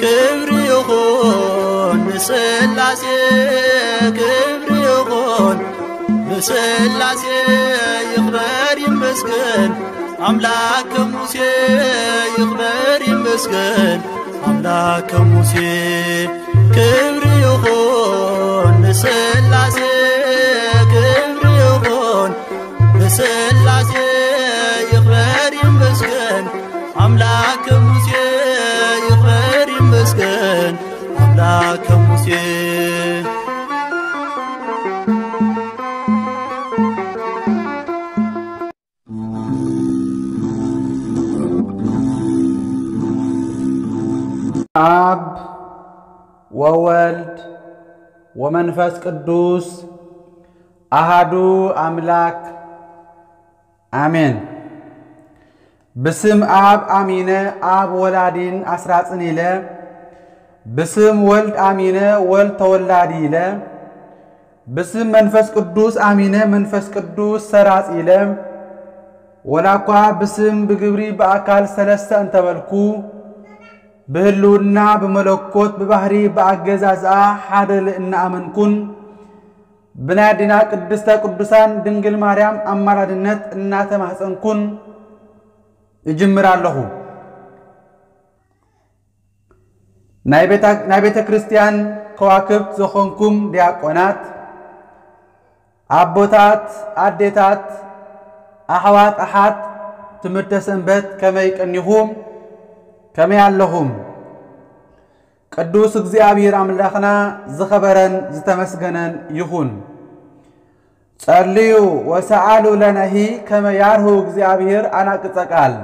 ክብሪ ይኹን ንስላሴ፣ ክብሪ ይኹን ንስላሴ፣ ይኽበር ይመስገን ኣምላክ ከሙሴ፣ ይኽበር ይመስገን ኣምላክ ከሙሴ። ክብሪ ይኹን ንስላሴ፣ ክብሪ ይኹን ንስላሴ፣ ይኽበር ይመስገን ኣምላክ ከሙሴ፣ ይኽበር ይመስገን ኣምላክ ከሙሴ። ኣብ ወወልድ ወመንፈስ ቅዱስ ኣሃዱ ኣምላክ ኣሜን። ብስም ኣብ ኣሚነ ኣብ ወላዲን ኣስራጽን ኢለ፣ ብስም ወልድ ኣሚነ ወልድ ተወላዲ ኢለ፣ ብስም መንፈስ ቅዱስ ኣሚነ መንፈስ ቅዱስ ሰራጽ ኢለ፣ ወላ እኳ ብስም ብግብሪ ብኣካል ሰለስተ እንተበልኩ፣ ብህልውና ብመለኮት ብባህሪ ብኣገዛዝኣ ሓደ እናኣመንኩን፣ ብናይ ኣዴና ቅድስተ ቅዱሳን ድንግል ማርያም ኣማላድነት እናተማህፀንኩን እጅምር ኣለኹ። ናይ ቤታ-፣ ናይ ቤተ ክርስቲያን ከዋክብት ዝኾንኩም ዲያቆናት፣ ኣቦታት፣ ኣዴታት፣ ኣሕዋት፣ ኣሓት ትምህርተ ሰንበት ከመይ ቀኒኹም? ከመይ ኣለኹም? ቅዱስ እግዚኣብሔር ኣምላኽና ዝኸበረን ዝተመስገነን ይኹን። ጸልዩ ወሰኣሉ ለነሂ ከመ ያርሁ እግዚኣብሔር ኣናቅጸ ቃል፣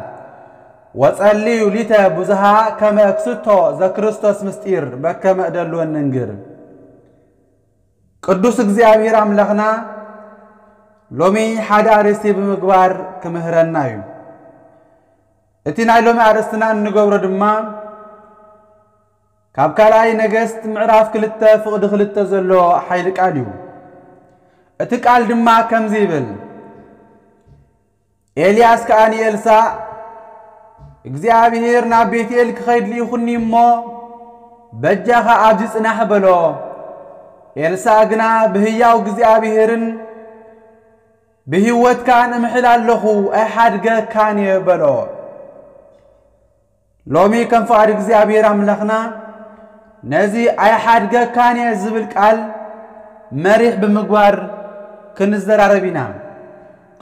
ወጸልዩ ሊተ ብዙሃ ከመ እክስቶ ዘክርስቶስ ምስጢር በከመ እደልወን ንንግር። ቅዱስ እግዚኣብሔር ኣምላኽና ሎሚ ሓደ ኣርእስቲ ብምግባር ክምህረና እዩ። እቲ ናይ ሎሚ ኣርእስትና እንገብሮ ድማ ካብ ካልኣይ ነገስት ምዕራፍ ክልተ ፍቕዲ ክልተ ዘሎ ሓይሊ ቃል እዩ። እቲ ቃል ድማ ከምዚ ይብል፣ ኤልያስ ከኣ ንኤልሳእ፣ እግዚኣብሔር ናብ ቤትኤል ክኸይድ ልኢኹኒ እሞ፣ በጃኻ ኣብዚ ጽናሕ በሎ። ኤልሳእ ግና፣ ብህያው እግዚኣብሔርን ብህይወትካን እምሕል ኣለኹ፣ ኣይሓድገካን እየ በሎ። ሎሚ ከም ፍቓድ እግዚኣብሔር ኣምላኽና ነዚ ኣይሓድገካን እየ ዝብል ቃል መሪሕ ብምግባር ክንዘራረብ ኢና።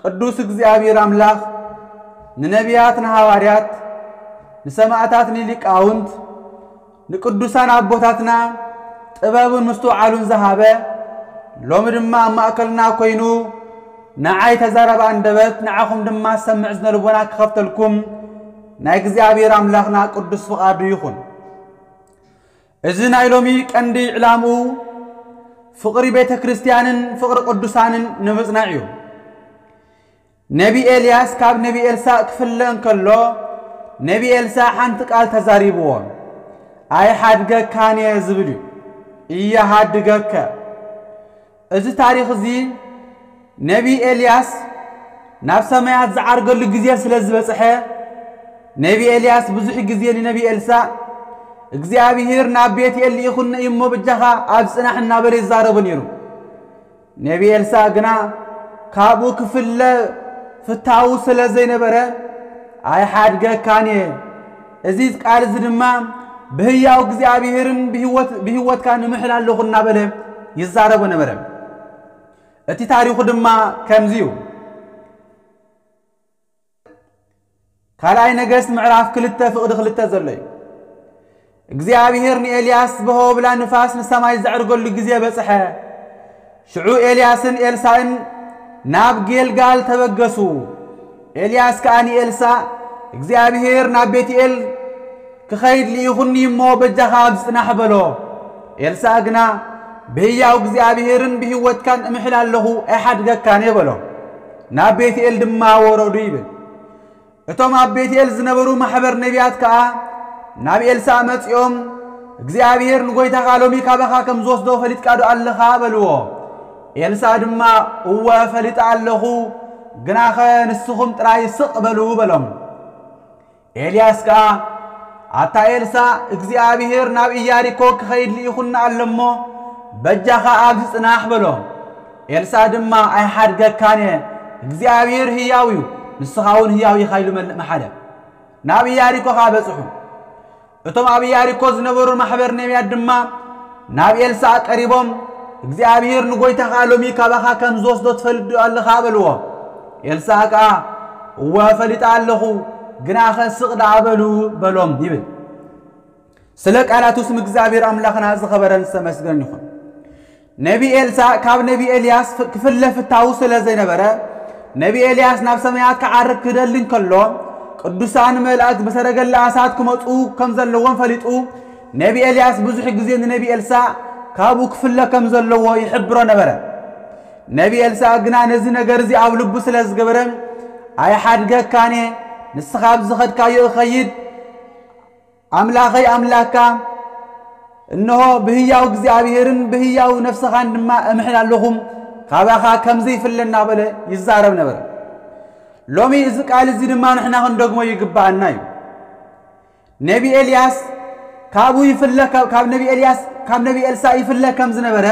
ቅዱስ እግዚኣብሔር ኣምላኽ ንነቢያት፣ ንሃዋርያት፣ ንሰማዕታት፣ ንሊቃውንት፣ ንቅዱሳን ኣቦታትና ጥበብን ምስትውዓሉን ዝሃበ፣ ሎሚ ድማ ኣብ ማእከልና ኮይኑ ንዓይ ተዛራቢ ኣንደበት፣ ንዓኹም ድማ ሰምዕ እዝነ ልቦና ክኸፍተልኩም ናይ እግዚኣብሔር ኣምላኽና ቅዱስ ፍቓዱ ይኹን። እዚ ናይ ሎሚ ቀንዲ ዕላምኡ ፍቕሪ ቤተ ክርስቲያንን ፍቕሪ ቅዱሳንን ንምጽናዕ እዩ። ነቢ ኤልያስ ካብ ነቢ ኤልሳእ ክፍለ እንከሎ፣ ነቢ ኤልሳእ ሓንቲ ቃል ተዛሪብዎ፣ "ኣይሓድገካን እየ" ዝብል እዩ። "እየሃድገከ።" እዚ ታሪኽ እዚ ነቢ ኤልያስ ናብ ሰማያት ዝዓርገሉ ግዜ ስለ ዝበጽሐ፣ ነቢ ኤልያስ ብዙሕ ግዜ ንነቢ ኤልሳእ፣ "እግዚኣብሄር ናብ ቤትኤል ልኢኹኒ እዩ እሞ፣ በጃኻ ኣብ ጽናሕ" እናበለ ይዛረቦ ነይሩ። ነቢ ኤልሳእ ግና ካብኡ ክፍለ ፍታዉ ስለ ዘይነበረ፣ "ኣይሓድገካን እየ፣ እዚ ቃል እዚ ድማ ብህያው እግዚኣብሄርን ብህይወት-፣ ብህይወትካ ንምሕል ኣለኹ" እናበለ ይዛረቦ ነበረ። እቲ ታሪኹ ድማ ከምዚ እዩ። ካልኣይ ነገስት ምዕራፍ ክልተ ፍቕዲ ክልተ ዘሎ እዩ። እግዚኣብሄር ንኤልያስ ብሆብላ ንፋስ ንሰማይ ዘዕርገሉ ግዜ በጽሐ። ሽዑ ኤልያስን ኤልሳእን ናብ ጌልጋል ተበገሱ። ኤልያስ ከኣ ንኤልሳእ፣ "እግዚኣብሄር ናብ ቤትኤል ክኸይድ ልኢኹኒ እሞ፣ በጃኻ ኣብዚ ጽናሕ" በሎ። ኤልሳእ ግና፣ "ብህያው እግዚኣብሄርን ብህይወትካን እምሕል ኣለኹ፣ ኣይሓድገካን እየ" በሎ። ናብ ቤትኤል ድማ ወረዱ ይብል። እቶም ኣብ ቤትኤል ዝነበሩ ማሕበር ነቢያት ከኣ ናብ ኤልሳእ መጺኦም፣ "እግዚኣብሄር ንጎይታኻ ሎሚ ካባኻ ከም ዝወስዶ ፈሊጥካ ዶ ኣለኻ?" በልዎ። ኤልሳእ ድማ፣ "እወ ፈሊጠ ኣለኹ፣ ግናኸ ንስኹም ጥራይ ስቕ በሉ" በሎም። ኤልያስ ከኣ፣ ኣታ ኤልሳእ፣ እግዚኣብሄር ናብ ኢያሪኮ ክኸይድ ልኢኹና ኣሎ እሞ፣ በጃኻ ኣብዚ ጽናሕ በሎ። ኤልሳእ ድማ፣ ኣይሓድገካን እየ፣ እግዚኣብሄር ህያው እዩ፣ ንስኻ እውን ህያው ኢኻ ኢሉ መል-፣ መሓለ። ናብ ኢያሪኮ ኸኣ በጽሑ። እቶም ኣብ ኢያሪኮ ዝነበሩ ማሕበር ነቢያት ድማ ናብ ኤልሳእ ቀሪቦም፣ እግዚኣብሄር ንጎይታኻ ሎሚ ካባኻ ከም ዝወስዶ ትፈልጥ ዶ ኣለኻ? በልዎ። ኤልሳእ ከኣ፣ እወ፣ ፈሊጠ ኣለኹ፣ ግናኸ ስቕ ደኣ በሉ በሎም ይብል። ስለ ቃላቱ ስም እግዚኣብሔር ኣምላኽና ዝኸበረን ዝተመስገነን ይኹን። ነቢ ኤልሳእ ካብ ነቢ ኤልያስ ፍ-፣ ክፍለ ፍታዉ ስለ ዘይነበረ፣ ነቢ ኤልያስ ናብ ሰማያት ክዓርግ ክደሊ እንከሎ፣ ቅዱሳን መላእክት ብሰረገላ እሳት ክመጹ ከም ዘለዎም ፈሊጡ፣ ነቢ ኤልያስ ብዙሕ ግዜ ንነቢ ኤልሳእ ካብኡ ክፍለ ከም ዘለዎ ይሕብሮ ነበረ። ነቢ ኤልሳእ ግና ነዚ ነገር እዚ ኣብ ልቡ ስለ ዝገበረ፣ ኣይሓድገካን እየ፣ ንስኻ ኣብ ዝኸድካዮ እኸይድ፣ ኣምላኸይ ኣምላካ፣ እንሆ ብህያው እግዚኣብሔርን ብህያው ነፍስኻን ድማ እምሕል ኣለኹ፣ ካባኻ ከም ዘይፍለ እናበለ ይዛረብ ነበረ። ሎሚ እዚ ቃል እዚ ድማ ንሕና ክንደግሞ ይግብኣና እዩ። ነቢ ኤልያስ ካብኡ ይፍለ፣ ካብ፣ ካብ ነቢ ኤልያስ፣ ካብ ነቢ ኤልሳእ ይፍለ ከም ዝነበረ፣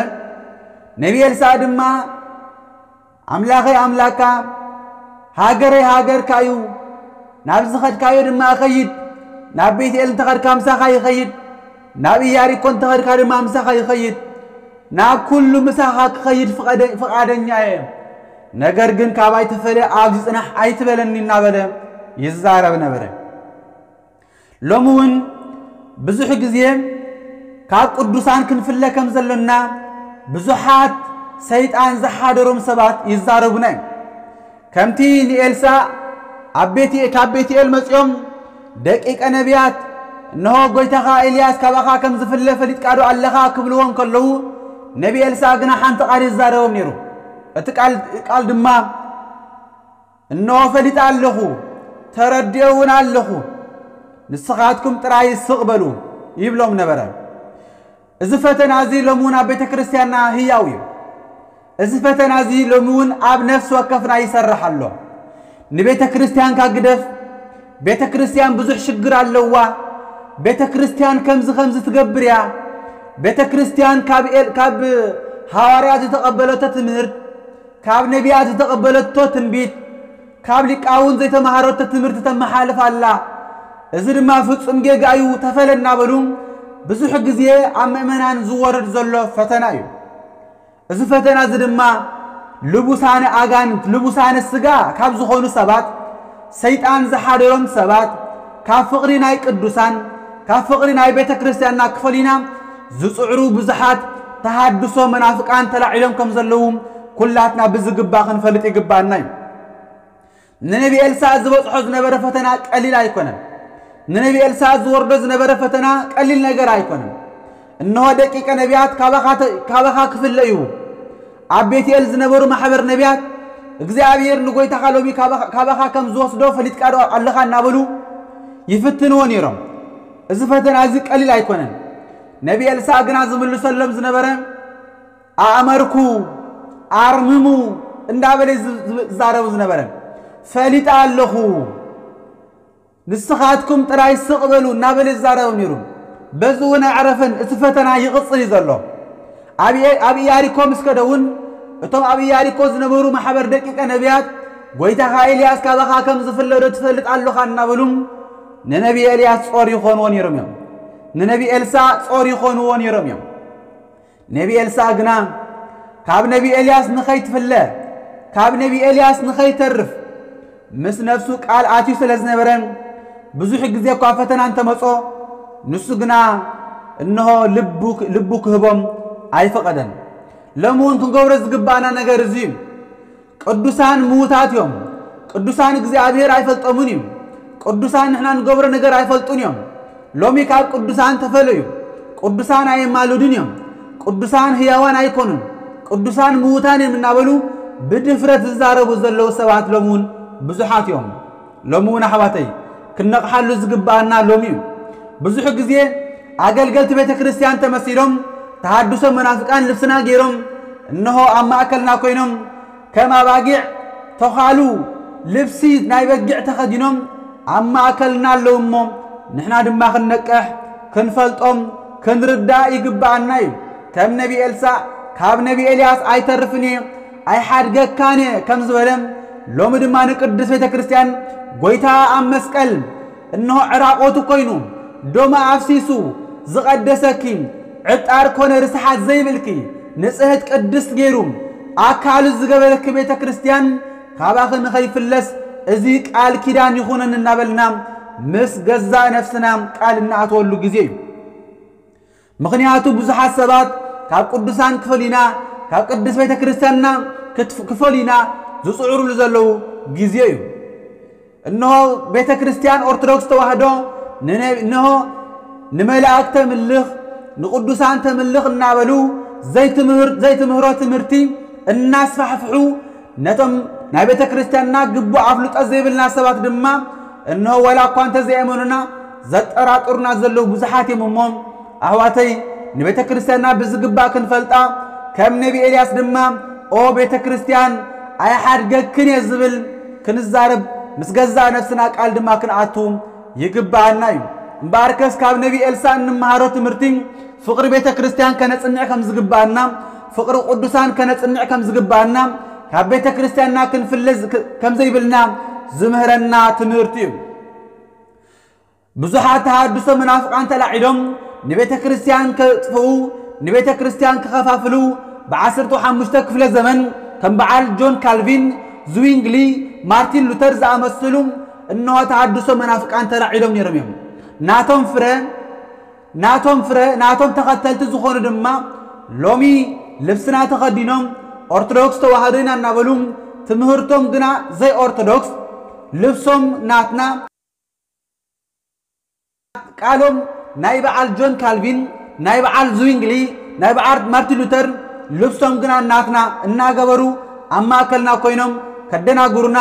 ነቢ ኤልሳእ ድማ ኣምላኸይ ኣምላካ፣ ሃገረይ ሃገርካ እዩ፣ ናብ ዝኸድካዮ ድማ እኸይድ፣ ናብ ቤትኤል እንተኸድካ ምሳኻ ይኸይድ፣ ናብ ኢያሪኮ እንተኸድካ ድማ ምሳኻ ይኸይድ፣ ናብ ኩሉ ምሳኻ ክኸይድ ፍቐደ-፣ ፍቓደኛ እየ፣ ነገር ግን ካባይ ተፈለ ኣብዚ ጽናሕ ኣይትበለኒ እናበለ ይዛረብ ነበረ። ሎሚ እውን ብዙሕ ግዜ ካብ ቅዱሳን ክንፍለ ከም ዘሎና ብዙሓት ሰይጣን ዝሓደሮም ሰባት ይዛረቡና እዮም። ከምቲ ንኤልሳእ ኣብ ቤት-፣ ካብ ቤትኤል መጺኦም ደቂቀ ነቢያት፣ "እንሆ ጎይታኻ ኤልያስ ካባኻ ከም ዝፍለ ፈሊጥካ ዶ ኣለኻ?" ክብልዎ እንከለዉ፣ ነቢ ኤልሳእ ግና ሓንቲ ቃል ይዛረቦም ነይሩ። እቲ ቃል፣ ቃል ድማ፣ "እንሆ ፈሊጠ ኣለኹ፣ ተረዲኦ እውን ኣለኹ፣ ንስኻትኩም ጥራይ ስቕ በሉ" ይብሎም ነበረ። እዚ ፈተና እዚ ሎሚ እውን ኣብ ቤተ ክርስቲያንና ህያው እዩ። እዚ ፈተና እዚ ሎሚ እውን ኣብ ነፍሲ ወከፍና ይሰርሕ ኣሎ። ንቤተ ክርስቲያንካ ግደፍ፣ ቤተ ክርስቲያን ብዙሕ ሽግር ኣለዋ፣ ቤተ ክርስቲያን ከምዚ ከምዚ ትገብር እያ፣ ቤተ ክርስቲያን ካብ ኤል-፣ ካብ ሃዋርያት ዝተቐበለቶ ትምህርት፣ ካብ ነቢያት ዝተቐበለቶ ትንቢት፣ ካብ ሊቃውንት ዘይተማሃረቶ ትምህርቲ ተመሓልፍ ኣላ። እዚ ድማ ፍጹም ጌጋ እዩ፣ ተፈለ እናበሉ ብዙሕ ግዜ ኣብ ምእመናን ዝወርድ ዘሎ ፈተና እዩ። እዚ ፈተና እዚ ድማ ልቡሳነ ኣጋንንት፣ ልቡሳነ ስጋ ካብ ዝኾኑ ሰባት፣ ሰይጣን ዝሓደሮም ሰባት፣ ካብ ፍቕሪ ናይ ቅዱሳን፣ ካብ ፍቕሪ ናይ ቤተ ክርስቲያንና ክፈልዩና ዝጽዕሩ ብዙሓት ተሃድሶ መናፍቃን ተላዒሎም ከም ዘለዉ ኩላትና ብዝግባእ ክንፈልጥ ይግባኣና እዩ። ንነቢ ኤልሳእ ዝበጽሖ ዝነበረ ፈተና ቀሊል ኣይኮነን። ንነቢ ኤልሳእ ዝወርዶ ዝነበረ ፈተና ቀሊል ነገር ኣይኮነን። "እንሆ ደቂቀ ነቢያት ካባኻ ተ-፣ ካባኻ ክፍለ እዩ። ኣብ ቤትኤል ዝነበሩ ማሕበር ነቢያት እግዚኣብሔር ንጎይታኻ ሎሚ ካባኻ፣ ካባኻ ከም ዝወስዶ ፈሊጥካ ዶ ኣለኻ?" እናበሉ ይፍትንዎ ነይሮም። እዚ ፈተና እዚ ቀሊል ኣይኮነን። ነቢ ኤልሳእ ግና ዝምልሰሎም ዝነበረ፣ "ኣእመርኩ፣ ኣርምሙ" እንዳበለ ዝ-፣ ዝ-፣ ዝዛረቡ ዝነበረ፣ "ፈሊጠ ኣለኹ፣ ንስኻትኩም ጥራይ ስቕ በሉ" እናበለ ዝዛረቦም ነይሩ። በዚ እውን ኣዕረፈን፣ እቲ ፈተና ይቕጽል እዩ ዘሎ። ኣብ፣ ኣብ ኢያሪኮ ምስ ከደ እውን፣ እቶም ኣብ ኢያሪኮ ዝነበሩ ማሕበር ደቂቀ ነቢያት፣ "ጎይታኻ ኤልያስ ካባኻ ከም ዝፍለዶ ትፈልጥ ኣለኻ" እናበሉ ንነቢ ኤልያስ ጾር ይኾንዎ ነይሮም እዮም። ንነቢ ኤልሳእ ጾር ይኾንዎ ነይሮም እዮም። ነቢ ኤልሳእ ግና ካብ ነቢ ኤልያስ ንኸይትፍለ፣ ካብ ነቢ ኤልያስ ንኸይተርፍ ምስ ነፍሱ ቃል ኣትዩ ስለ ዝነበረ፣ ብዙሕ ግዜ እኳ ፈተና እንተመጾ፣ ንሱ ግና እንሆ ልቡ፣ ልቡ ክህቦም ኣይፈቐደን። ሎሚ እውን ክንገብሮ ዝግባኣና ነገር እዚ እዩ። ቅዱሳን ምዉታት እዮም። ቅዱሳን እግዚኣብሔር ኣይፈልጦምን እዩ። ቅዱሳን ንሕና ንገብሮ ነገር ኣይፈልጡን እዮም። ሎሚ ካብ ቅዱሳን ተፈለዩ። ቅዱሳን ኣየማልዱን እዮም። ቅዱሳን ህያዋን ኣይኮኑን። ቅዱሳን ምዉታን እዮም እናበሉ ብድፍረት ዝዛረቡ ዘለዉ ሰባት ሎሚ እውን ብዙሓት እዮም። ሎሚ እውን ኣሕዋተይ ክንነቕሓሉ ዝግብኣና ሎሚ እዩ። ብዙሕ ግዜ ኣገልገልቲ ቤተ ክርስቲያን ተመሲሎም ተሃድሶ መናፍቃን ልብስና ገይሮም እንሆ ኣብ ማእከልና ኮይኖም ከም ኣባጊዕ ተዃሉ ልብሲ ናይ በጊዕ ተኸዲኖም ኣብ ማእከልና ኣለዉ እሞ ንሕና ድማ ክንነቅሕ፣ ክንፈልጦም፣ ክንርዳእ ይግብኣና እዩ። ከም ነቢ ኤልሳዕ፣ ካብ ነቢ ኤልያስ ኣይተርፍን እየ፣ ኣይሓድገካን እየ ከም ዝበለ፣ ሎሚ ድማ ንቅድስት ቤተ ክርስቲያን ጎይታ ኣብ መስቀል እንሆ ዕራቆቱ ኮይኑ፣ ደሙ ኣፍሲሱ ዝቐደሰኪ፣ ዕጣር ኮነ ርስሓት ዘይብልኪ፣ ንጽህት ቅድስት ገይሩ ኣካሉ ዝገበረኪ ቤተ ክርስቲያን፣ ካባኺ ንኸይፍለስ እዚ ቃል ኪዳን ይኹነን እናበልና ምስ ገዛእ ነፍስና ቃል እናኣተወሉ ግዜ እዩ። ምኽንያቱ ብዙሓት ሰባት ካብ ቅዱሳን ክፈሊና፣ ካብ ቅድስት ቤተ ክርስቲያንና ክትፍ-፣ ክፈሊና ዝጽዕሩሉ ዘለዉ ግዜ እዩ። እነሆ ቤተ ክርስቲያን ኦርቶዶክስ ተዋህዶ ንነ-፣ እነሆ ንመላእክት ተምልኽ፣ ንቅዱሳን ተምልኽ እናበሉ ዘይትምህር-፣ ዘይትምህሮ ትምህርቲ እናስፋሕፍሑ፣ ነቶም ናይ ቤተ ክርስቲያንና ግቡእ ኣፍልጦ ዘይብልና ሰባት ድማ እነሆ ዋላ እኳ እንተዘይኣመኑና ዘጠራጥሩና ዘለዉ ብዙሓት እዮም። እሞ ኣሕዋተይ፣ ንቤተ ክርስቲያንና ብዝግባእ ክንፈልጣ፣ ከም ነቢ ኤልያስ ድማ ኦ ቤተ ክርስቲያን ኣይሓድገክን እየ ዝብል ክንዛረብ፣ ምስ ገዛእ ነፍስና ቃል ድማ ክንኣቱ ይግብኣና እዩ። እምበኣርከስ ካብ ነቢ ኤልሳዕ እንመሃሮ ትምህርቲ ፍቕሪ ቤተ ክርስቲያን ከነጽንዕ ከም ዝግብኣና፣ ፍቕሪ ቅዱሳን ከነጽንዕ ከም ዝግብኣና፣ ካብ ቤተ ክርስቲያንና ክንፍለ ዝ-፣ ክ-፣ ከም ዘይብልና ዝምህረና ትምህርቲ እዩ። ብዙሓት ተሃድሶ መናፍቃን ተላዒሎም ንቤተ ክርስቲያን ከጥፍኡ፣ ንቤተ ክርስቲያን ክኸፋፍሉ፣ ብዓሰርተ ሓሙሽተ ክፍለ ዘመን ከም በዓል ጆን ካልቪን፣ ዝዊንግሊ፣ ማርቲን ሉተር ዝኣመሰሉ እንሆ ተሃድሶ መናፍቃን ተላዒሎም ነይሮም እዮም። ናቶም ፍረ፣ ናቶም ፍረ፣ ናቶም ተኸተልቲ ዝኾኑ ድማ ሎሚ ልብስና ተኸዲኖም ኦርቶዶክስ ተዋህዶ ኢና እናበሉ፣ ትምህርቶም ግና ዘይኦርቶዶክስ፣ ልብሶም ናትና፣ ቃሎም ናይ በዓል ጆን ካልቪን፣ ናይ በዓል ዝዊንግሊ፣ ናይ በዓል ማርቲን ሉተር፣ ልብሶም ግና ናትና እናገበሩ ኣብ ማእከልና ኮይኖም ከደናግሩና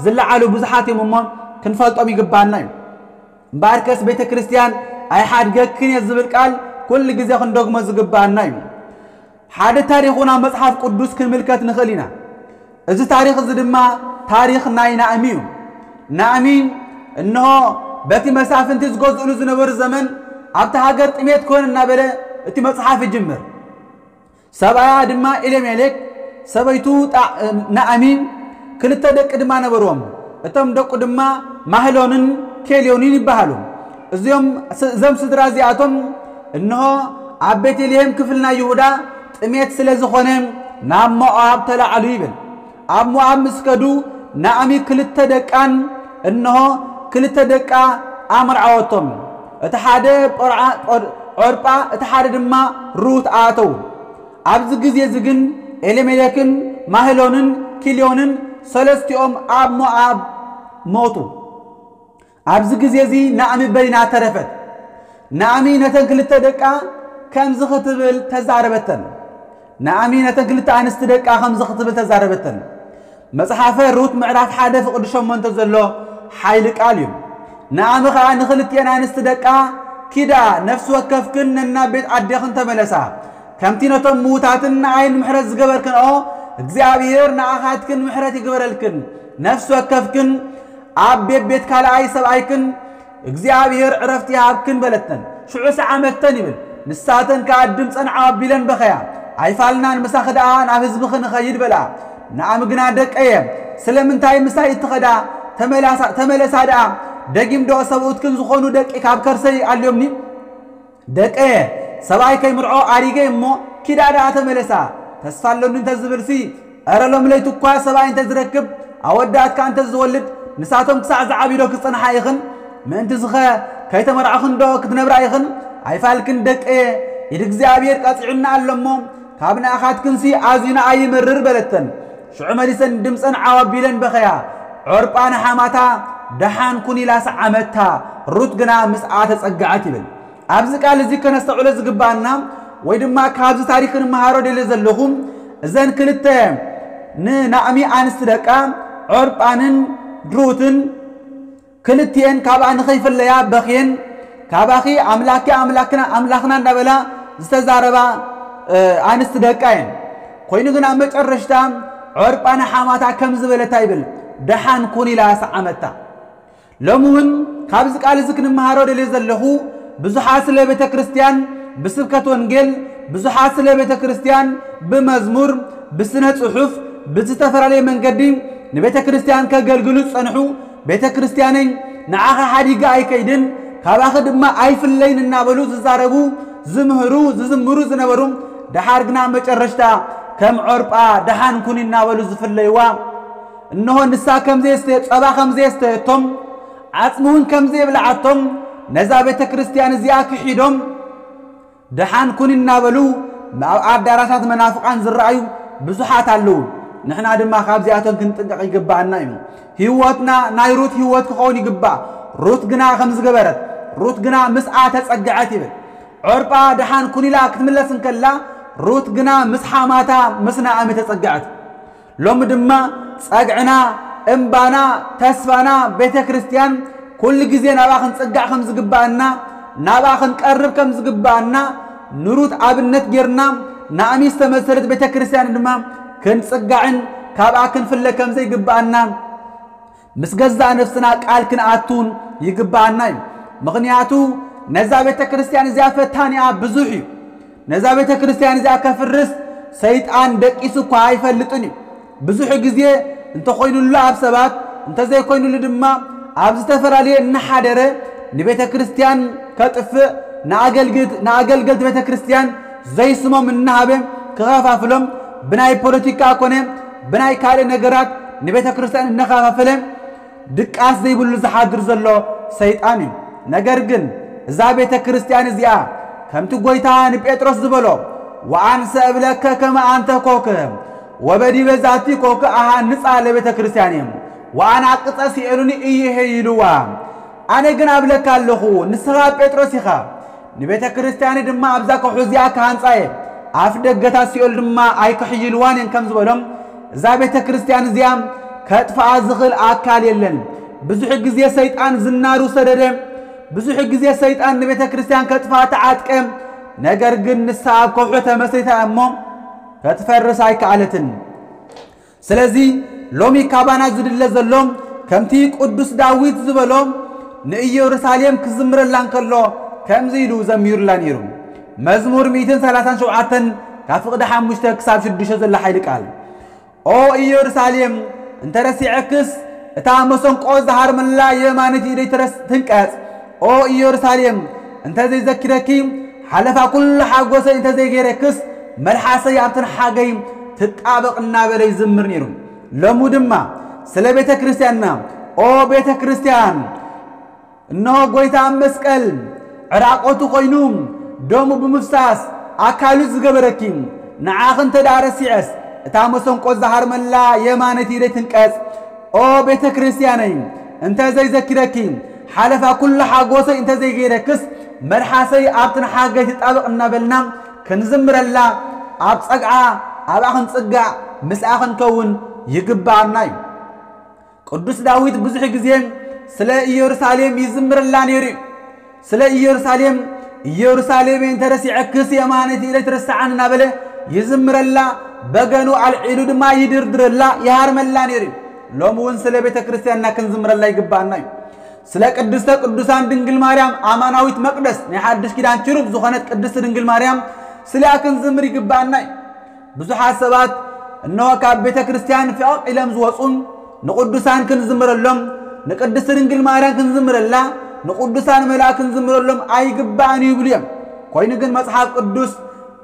ዝለዓሉ ብዙሓት እዮም እሞ ክንፈልጦም ይግባና እዩ። እምበኣርከስ ቤተ ክርስቲያን ኣይሓድገክን እየ ዝብል ቃል ኩሉ ግዜ ክንደግሞ ዝግባና እዩ። ሓደ ታሪኽ እውን ኣብ መጽሓፍ ቅዱስ ክንምልከት ንኽእል ኢና። እዚ ታሪኽ እዚ ድማ ታሪኽ ናይ ናእሚ እዩ። ናእሚ እንሆ በቲ መሳፍንቲ ዝገዝእሉ ዝነበሩ ዘመን ኣብቲ ሃገር ጥሜት ኮነ እናበለ እቲ መጽሓፍ ይጅምር። ሰብኣያ ድማ ኤሌሜሌክ፣ ሰበይቱ ጣ-፣ ናእሚ ክልተ ደቂ ድማ ነበርዎም። እቶም ደቁ ድማ ማህሎንን ኬልዮንን ይበሃሉ። እዚኦም ስ-፣ እዞም ስድራ እዚኣቶም እንሆ ኣብ ቤተልሔም ክፍል ናይ ይሁዳ ጥሜት ስለ ዝኾነ ናብ ሞዓብ ተላዕሉ ይብል። ኣብ ሞዓብ ምስ ከዱ ናእሚ ክልተ ደቃን እንሆ ክልተ ደቃ ኣምርዓወቶም። እቲ ሓደ ጶርዓ-፣ ጶር-፣ ዖርጳ፣ እቲ ሓደ ድማ ሩት ኣተዉ። ኣብዚ ግዜ እዚ ግን ኤሌሜሌክን ማህሎንን ኪልዮንን ሰለስቲኦም ኣብ ሞዓብ ሞቱ። ኣብዚ ግዜ እዚ ናእሚ በይና ተረፈት። ናእሚ ነተን ክልተ ደቃ ከምዚ ክትብል ተዛረበተን። ናእሚ ነተን ክልተ ኣንስቲ ደቃ ከምዚ ክትብል ተዛረበተን። መጽሓፈ ሩት ምዕራፍ ሓደ ፍቕዲ ሸሞንተ ዘሎ ሓይሊ ቃል እዩ። ናእሚ ኸኣ ንኽልቲኤን ኣንስቲ ደቃ፣ ኪዳ፣ ነፍሲ ወከፍክን ነናብ ቤት ኣዴኽን ተመለሳ። ከምቲ ነቶም ምዉታትን ንኣይን ምሕረት ዝገበርክንኦ፣ እግዚኣብሔር ንኣኻትክን ምሕረት ይግበረልክን። ነፍሲ ወከፍክን ኣብ ቤት ቤት ካልኣይ ሰብኣይክን እግዚኣብሔር ዕረፍቲ ይሃብክን በለተን። ሽዑ ሰዓመተን ይብል። ንሳተን ከኣ ድምፀን ዓው ኣቢለን በኸያ። ኣይፋልናን፣ ምሳኺ ደኣ ናብ ህዝብኺ ንኸይድ በልኣ። ናእሚ ግና፣ ደቀየ፣ ስለምንታይ ምሳይ እትኸዳ? ተመላሳ-፣ ተመለሳ ደኣ፣ ደጊም ዶ ሰብኡትክን ዝኾኑ ደቂ ካብ ከርሰይ ኣልዮምኒ? ደቀየ፣ ሰብኣይ ከይምርዖ ኣሪገ እሞ ኪዳ ደኣ ተመለሳ። ተስፋ ኣሎኒ እንተዝብልሲ፣ እረ ሎሚ ለይቲ እኳ ሰብኣይ እንተዝረክብ፣ ኣወዳት ከኣ እንተዝወልድ፣ ንሳቶም ክሳዕ ዝዓብዩ ዶ ክጸንሓ ኢኽን? ምእንትዝኸ ከይተመርዓኽን ዶ ክትነብራ ኢኽን? ኣይፋልክን ደቀየ፣ ኢድ እግዚኣብሔር ቀጺዑና ኣሎ እሞ፣ ካብ ንኣኻትክንሲ ኣዝዩ ንኣይ ይመርር በለተን። ሽዑ መሊሰን ድምፀን ዓው ኣቢለን በኸያ። ዖርጳ ንሓማታ ደሓን ኩን ኢላ ሰዓመታ። ሩት ግና ምስኣ ተጸግዐት ይብል። ኣብዚ ቃል እዚ ከነስተውዕሎ ዝግባኣና ወይ ድማ ካብዚ ታሪኽ ክንመሃሮ ደልየ ዘለኹ፣ እዘን ክልተ ንናእሚ ኣንስቲ ደቃ ዖርጳንን ሩትን ክልቲኤን ካብኣ ንኸይፍለያ በኽየን፣ ካባኺ ኣምላኪ ኣምላክና፣ ኣምላኽና እንዳበላ ዝተዛረባ፣ እ፣ ኣንስቲ ደቃ እየን። ኮይኑ ግን ኣብ መጨረሽታ ዖርጳ ንሓማታ ከም ዝበለታ ይብል፣ ደሓን ኩን ኢላ ሰዓመታ። ሎሚ እውን ካብዚ ቃል እዚ ክንመሃሮ ደልየ ዘለኹ፣ ብዙሓት ስለ ቤተ ክርስቲያን ብስብከት ወንጌል፣ ብዙሓት ስለ ቤተ ክርስቲያን ብመዝሙር፣ ብስነ ጽሑፍ፣ ብዝተፈላለየ መንገዲ ንቤተ ክርስቲያን ከገልግሉ ዝጸንሑ፣ ቤተ ክርስቲያነይ ንዓኻ ሓዲጋ ኣይከይድን፣ ካባኺ ድማ ኣይፍለይን እናበሉ ዝዛረቡ፣ ዝምህሩ፣ ዝዝምሩ ዝነበሩ፣ ደሓር ግና መጨረሽታ ከም ዖርጳ ደሓን ኩኒ እናበሉ ዝፍለይዋ፣ እንሆ ንሳ ከም ዘየስተየ፣ ጸባ ከም ዘየስተየቶም፣ ዓጽሚ እውን ከም ዘየብልዓቶም፣ ነዛ ቤተ ክርስቲያን እዚኣ ክሒዶም፣ ደሓን ኩኒ እናበሉ ኣብ ኣዳራሻት መናፍቃን ዝረኣዩ ብዙሓት ኣለዉ። ንሕና ድማ ካብዚኣቶም ክንጥንቀቕ ይግባኣና እዩ። ህይወትና ናይ ሩት ህይወት ክኸውን ይግባእ። ሩት ግና ከም ዝገበረት፣ ሩት ግና ምስኣ ተጸግዐት ይብል። ዖርጳ ደሓን ኩን ኢላ ክትምለስ እንከላ፣ ሩት ግና ምስ ሓማታ ምስ ናኦሚ ተጸግዐት። ሎሚ ድማ ጸግዕና፣ እምባና፣ ተስፋና ቤተ ክርስቲያን ኩሉ ግዜ ናብኣ ክንጽጋዕ ከም ዝግባኣና፣ ናብኣ ክንቀርብ ከም ዝግባኣና፣ ንሩት ኣብነት ጌርና፣ ናኦሚ ዝተመሰለት ቤተ ክርስቲያን ድማ ክንጽጋዕን ካብኣ ክንፍለ ከም ዘይግባኣና ምስ ገዛእ ነፍስና ቃል ክንኣቱን ይግባኣና እዩ። ምኽንያቱ ነዛ ቤተ ክርስቲያን እዚኣ ፈታኒኣ ብዙሕ እዩ። ነዛ ቤተ ክርስቲያን እዚኣ ከፍርስ ሰይጣን ደቂሱ እኳ ኣይፈልጥን እዩ። ብዙሕ ግዜ እንተኾይኑሉ ኣብ ሰባት፣ እንተዘይኮይኑሉ ድማ ኣብ ዝተፈላለየ እናሓደረ ንቤተ ክርስቲያን ከጥፍእ፣ ንኣገልግት-፣ ንኣገልገልቲ ቤተ ክርስቲያን ዘይስሞም እናሃበ ክኸፋፍሎም፣ ብናይ ፖለቲካ ኮነ ብናይ ካልእ ነገራት ንቤተ ክርስቲያን እናኸፋፈለ ድቃስ ዘይብሉ ዝሓድር ዘሎ ሰይጣን እዩ። ነገር ግን እዛ ቤተ ክርስቲያን እዚኣ ከምቲ ጐይታ ንጴጥሮስ ዝበሎ፣ "ወአንሰ እብለከ ከመ አንተ ኮክ ወበዲበ ዛቲ ኮክ አሃንጻ ለቤተ ክርስቲያን ወአናቅጸ ሲኦልን ኢይሄ" ኢልዋ። ኣነ ግን ኣብለካ ኣለኹ፣ ንስኻ ጴጥሮስ ኢኻ፣ ንቤተ ክርስቲያን ድማ ኣብዛ ከውሒ እዚኣ ክሃንጻ እየ፣ ኣፍ ደገታት ሲኦል ድማ ኣይክሕይልዋን እየን ከም ዝበሎም፣ እዛ ቤተ ክርስቲያን እዚኣ ከጥፍኣ ዝኽእል ኣካል የለን። ብዙሕ ግዜ ሰይጣን ዝናሩ ሰደደ፣ ብዙሕ ግዜ ሰይጣን ንቤተ ክርስቲያን ከጥፍኣ ተዓጥቀ። ነገር ግን ንሳ ኣብ ከውሒ ተመስሪታ እሞ ክትፈርስ ኣይከኣለትን። ስለዚ ሎሚ ካባና ዝድለ ዘሎ፣ ከምቲ ቅዱስ ዳዊት ዝበሎ፣ ንኢየሩሳሌም ክዝምረላ እንከሎ ከምዚ ኢሉ ዘሚሩላ ነይሩ። መዝሙር ሚእትን ሰላሳን ሸውዓተን ካብ ፍቕዲ ሓሙሽተ ክሳብ ሽዱሽተ ዘሎ ሓይሊ ቃል፣ "ኦ ኢየሩሳሌም፣ እንተ ረሲዐክስ፣ እታ መሰንቆ ዝሃርመላ የማኒት ኢደይ ትረስ-፣ ትንቀጽ። ኦ ኢየሩሳሌም፣ እንተ ዘይዘኪረኪ፣ ሓለፋ ኩሉ ሓጎሰይ እንተ ዘይገይረክስ፣ መልሓሰይ ኣብቲ ንሓገይ ትጣበቕ" እናበለ ይዝምር ነይሩ። ሎሚ ድማ ስለ ቤተ ክርስቲያንና፣ "ኦ ቤተ ክርስቲያን፣ እነሆ ጐይታ ኣብ መስቀል ዕራቆቱ ኾይኑ ደሙ ብምፍሳስ ኣካሉ ዝገበረኪ፣ ንዓኺ እንተ ደኣ ረሲዐስ፣ እታ መሰንቆ ዝሃርመላ የማነይቲ ኢደይ ትንቀጽ። ኦ ቤተ ክርስቲያነይ፣ እንተ ዘይዘኪረኪ፣ ሓለፋ ኩሉ ሓጎሰይ እንተ ዘይገይረክስ፣ መልሓሰይ ኣብቲ ንሓገይ ትጣበቕ" እናበልና ክንዝምረላ፣ ኣብ ጸግዓ ኣብኣ ክንጽጋዕ ምስኣ ክንከውን ይግብኣና እዩ። ቅዱስ ዳዊት ብዙሕ ግዜ ስለ ኢየሩሳሌም ይዝምረላ ነይሩ እዩ። ስለ ኢየሩሳሌም፣ "ኢየሩሳሌም እንተ ረሲዐክስ የማነይቲ ኢደይ ትርስዓኒ" እናበለ ይዝምረላ፣ በገኑ ኣልዒሉ ድማ ይድርድረላ፣ ይሃርመላ ነይሩ እዩ። ሎሚ እውን ስለ ቤተ ክርስቲያንና ክንዝምረላ ይግብኣና እዩ። ስለ ቅድስተ ቅዱሳን ድንግል ማርያም ኣማናዊት መቅደስ ናይ ሓድሽ ኪዳን ችሩብ ዝኾነት ቅድስቲ ድንግል ማርያም ስሊኣ ክንዝምር ይግብኣና እዩ። ብዙሓት ሰባት እነሆ ካብ ቤተ ክርስቲያን ፍቕቕ ኢሎም ዝወፁን ንቅዱሳን ክንዝምረሎም፣ ንቅድስቲ ድንግል ማርያም ክንዝምረላ፣ ንቅዱሳን መላእክት ክንዝምረሎም ኣይግባእን እዩ ይብሉ እዮም። ኮይኑ ግን መጽሓፍ ቅዱስ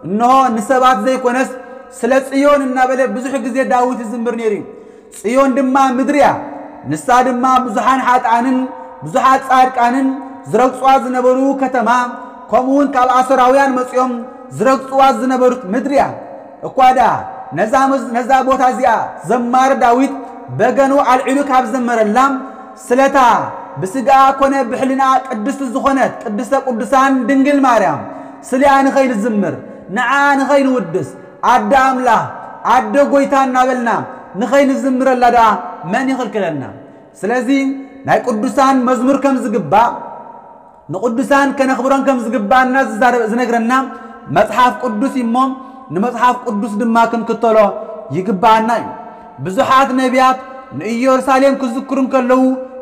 እነሆ ንሰባት ዘይኮነስ ስለ ጽዮን እናበለ ብዙሕ ግዜ ዳዊት ይዝምር ነይሩ እዩ። ጽዮን ድማ ምድሪ እያ። ንሳ ድማ ብዙሓን ሓጥኣንን ብዙሓት ጻድቃንን ዝረግጽዋ ዝነበሩ ከተማ፣ ከምኡ እውን ካብ ኣሶራውያን መጺኦም ዝረግጽዋ ዝነበሩት ምድሪ እያ። እኳ ደኣ ነዛ መዝ-፣ ነዛ ቦታ እዚኣ ዘማሪ ዳዊት በገኑ ኣልዒሉ ካብ ዘመረላ፣ ስለታ ብስጋ ኮነ ብሕልና ቅድስቲ ዝኾነት ቅድስተ ቅዱሳን ድንግል ማርያም ስሊኣ ንኸይንዝምር፣ ንዓ ንኸይንውድስ፣ ኣደ ኣምላኽ፣ ኣደ ጐይታ እናበልና ንኸይንዝምረላ ደኣ መን ይኽልክለና? ስለዚ ናይ ቅዱሳን መዝሙር ከም ዝግባእ፣ ንቅዱሳን ከነኽብሮም ከም ዝግባኣና ዝዛረብ-፣ ዝነግረና መጽሓፍ ቅዱስ እዩ እሞ፣ ንመጽሓፍ ቅዱስ ድማ ክንክተሎ ይግባኣና እዩ። ብዙሓት ነቢያት ንኢየሩሳሌም ክዝክሩ እንከለዉ፣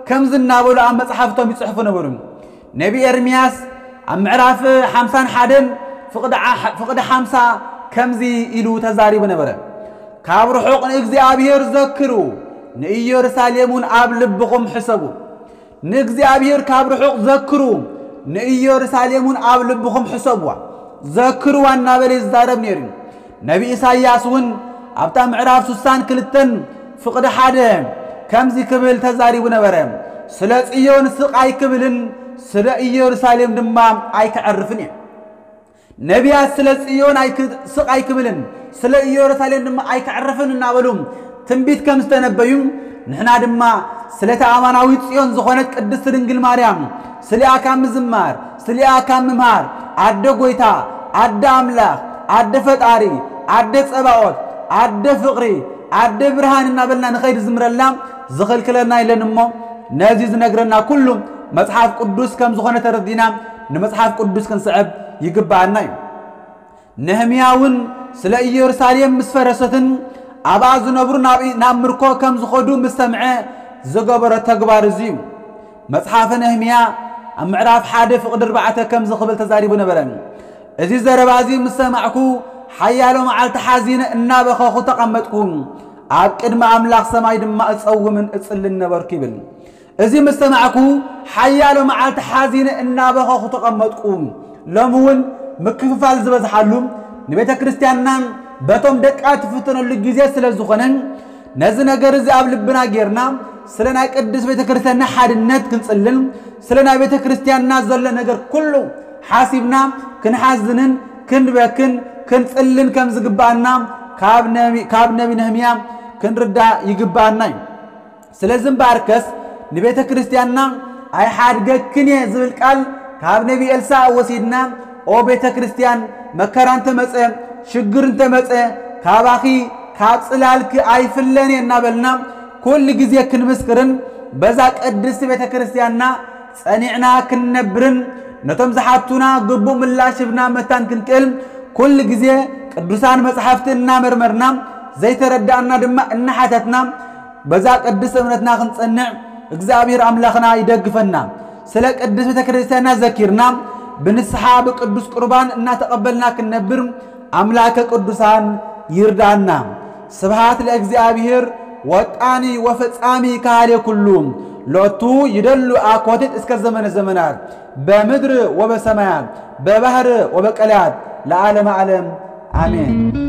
ከምዚ እናበሉ ኣብ መጽሓፍቶም ይጽሕፉ ነበሩ። ነቢ ኤርምያስ ኣብ ምዕራፍ ሓምሳን ሓደን ፍቕዲ ሓምሳ ከምዚ ኢሉ ተዛሪቡ ነበረ። ካብ ርሑቕ ንእግዚኣብሔር ዘክሩ፣ ንኢየሩሳሌም እውን ኣብ ልብኹም ሕሰቡ። ንእግዚኣብሔር ካብ ርሑቕ ዘክሩ፣ ንኢየሩሳሌም እውን ኣብ ልብኹም ሕሰብዋ፣ ዘክርዋ እናበለ ይዛረብ ነይሩ። ነቢ ኢሳይያስ እውን ኣብታ ምዕራፍ ስሳን ክልተን ፍቕዲ ሓደ ከምዚ ክብል ተዛሪቡ ነበረ፣ ስለ ጽዮን ስቕ ኣይክብልን ስለ ኢየሩሳሌም ድማ ኣይከዕርፍን እየ። ነቢያት ስለ ጽዮን ኣይክ- ስቕ ኣይክብልን ስለ ኢየሩሳሌም ድማ ኣይከዕርፍን እናበሉ ትንቢት ከም ዝተነበዩ፣ ንሕና ድማ ስለታ ኣማናዊት ጽዮን ዝኾነት ቅድስት ድንግል ማርያም ስሊኣ ካብ ምዝማር፣ ስሊኣ ካብ ምምሃር፣ ኣደ ጎይታ፣ ኣደ ኣምላኽ፣ ኣደ ፈጣሪ፣ ኣደ ጸባኦት፣ ኣደ ፍቕሪ፣ ኣደ ብርሃን እናበልና ንኸይድ ዝምረላ ዝኽልክለና የለን እሞ፣ ነዚ ዝነግረና ኩሉ መጽሓፍ ቅዱስ ከም ዝኾነ ተረዲና ንመጽሓፍ ቅዱስ ክንስዕብ ይግብኣና እዩ። ነህምያ እውን ስለ ኢየሩሳሌም ምስ ፈረሰትን ኣብኣ ዝነብሩ ናብ፣ ናብ ምርኮ ከም ዝኸዱ ምስ ሰምዐ ዝገበሮ ተግባር እዚ እዩ። መጽሓፈ ነህምያ ኣብ ምዕራፍ ሓደ ፍቕዲ ኣርባዕተ ከም ዝኽብል ተዛሪቡ ነበረ። እዚ ዘረባ እዚ ምስ ሰማዕኩ ሓያሎ መዓልቲ ሓዚነ እናበኸኹ ተቐመጥኩ። ኣብ ቅድሚ ኣምላኽ ሰማይ ድማ እጸውምን እጽልን ነበርኩ ይብል። እዚ ምስ ሰማዕኩ ሓያሎ መዓልቲ ሓዚነ እናበኸኹ ተቐመጥኩ። ሎሚ እውን ምክፍፋል ዝበዝሓሉ ንቤተ ክርስቲያንና በቶም ደቃ ትፍተነሉ ግዜ ስለ ዝኾነ ነዚ ነገር እዚ ኣብ ልብና ጌርና ስለ ናይ ቅድስት ቤተ ክርስቲያንና ሓድነት ክንጽልን ስለ ናይ ቤተ ክርስቲያንና ዘሎ ነገር ኩሉ ሓሲብና ክንሓዝንን ክንበክን ክንጽልን ከም ዝግብኣና ካብ ነቢ፣ ካብ ነቢ ነህምያ ክንርዳእ ይግብኣና እዩ። ስለዚ እምበኣርከስ ንቤተ ክርስቲያንና ኣይሓድገክን እየ ዝብል ቃል ካብ ነቢ ኤልሳዕ ወሲድና፣ ኦ ቤተ ክርስቲያን፣ መከራ እንተመጸ፣ ሽግር እንተመጸ፣ ካባኺ ካብ ጽላልኪ ኣይፍለን እየ እናበልና ኩሉ ግዜ ክንምስክርን በዛ ቅድስቲ ቤተ ክርስቲያንና ጸኒዕና ክንነብርን ነቶም ዝሓቱና ግቡእ ምላሽ ህብና መታን ክንክእል ኩሉ ግዜ ቅዱሳን መጻሕፍቲ እናመርመርና ዘይተረዳእና ድማ እናሓተትና በዛ ቅድስቲ እምነትና ክንጸንዕ እግዚኣብሔር ኣምላኽና ይደግፈና። ስለ ቅድስት ቤተ ክርስቲያንና ዘኪርና ብንስሓ ብቅዱስ ቁርባን እናተቐበልና ክንነብር ኣምላከ ቅዱሳን ይርዳና። ስብሐት ለእግዚኣብሔር ወጣኒ ወፈጻሚ ካህሌ ኩሉ ሎቱ ይደሉ አኮቴት እስከ ዘመነ ዘመናት በምድር ወበሰማያት በባህር ወበቀላያት ለዓለመ ዓለም አሜን።